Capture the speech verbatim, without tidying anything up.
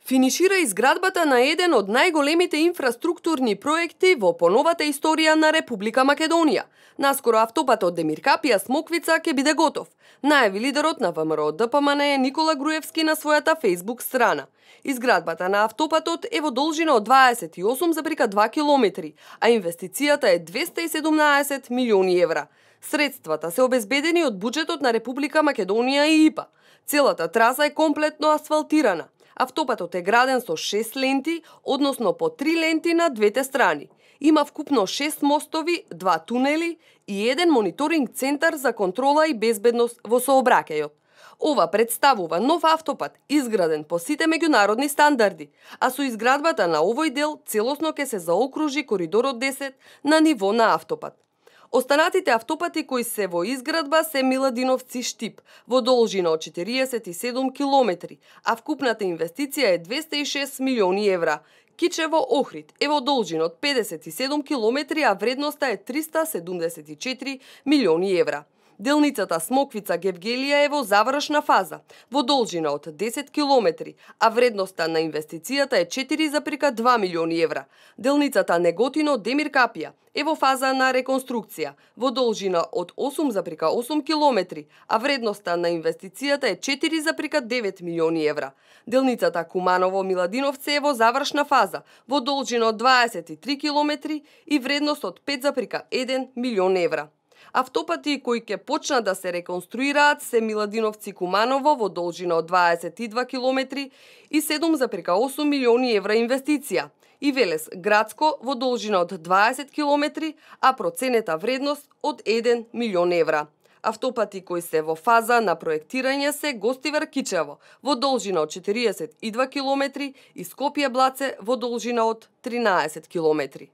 Финишира изградбата на еден од најголемите инфраструктурни проекти во поновата историја на Република Македонија. Наскоро автопатот Демиркапија Смоквица ќе биде готов, најави лидерот на ВМРО-ДПМН Никола Груевски на својата Facebook страна. Изградбата на автопатот е во должина од дваесет и осум зарез два километри, а инвестицијата е двесте и седумнаесет милиони евра. Средствата се обезбедени од буџетот на Република Македонија и ИПА. Целата траса е комплетно асфалтирана. Автопатот е граден со шест ленти, односно по три ленти на двете страни. Има вкупно шест мостови, два тунели и еден мониторинг центар за контрола и безбедност во сообраќајот. Ова представува нов автопат, изграден по сите меѓународни стандарди, а со изградбата на овој дел целосно ќе се заокружи коридорот десет на ниво на автопат. Останатите автопати кои се во изградба се Миладиновци-Штип, во должина од четириесет и седум километри, а вкупната инвестиција е двесте и шест милиони евра. Кичево-Охрид е во должина од педесет и седум километри, а вредноста е триста седумдесет и четири милиони евра. Делницата Смоквица-Гевгелија е во завршна фаза, во должина од десет километри, а вредноста на инвестицијата е четири зарез два милиони евра. Делницата Неготино-Демиркапија е во фаза на реконструкција, во должина од осум зарез осум километри, а вредноста на инвестицијата е четири зарез девет милиони евра. Делницата Куманово-Миладиновци е во завршна фаза, во должина од дваесет и три километри и вредност од пет зарез еден милион евра. Автопати кои ќе почнат да се реконструираат се Миладиновци-Куманово во должина од дваесет и два километри и седум зарез осум милиони евра инвестиција, и Велес-Градско во должина од дваесет километри, а проценета вредност од еден милион евра. Автопати кои се во фаза на проектирање се Гостивар-Кичево во должина од четириесет и два километри и Скопје-Блаце во должина од тринаесет километри.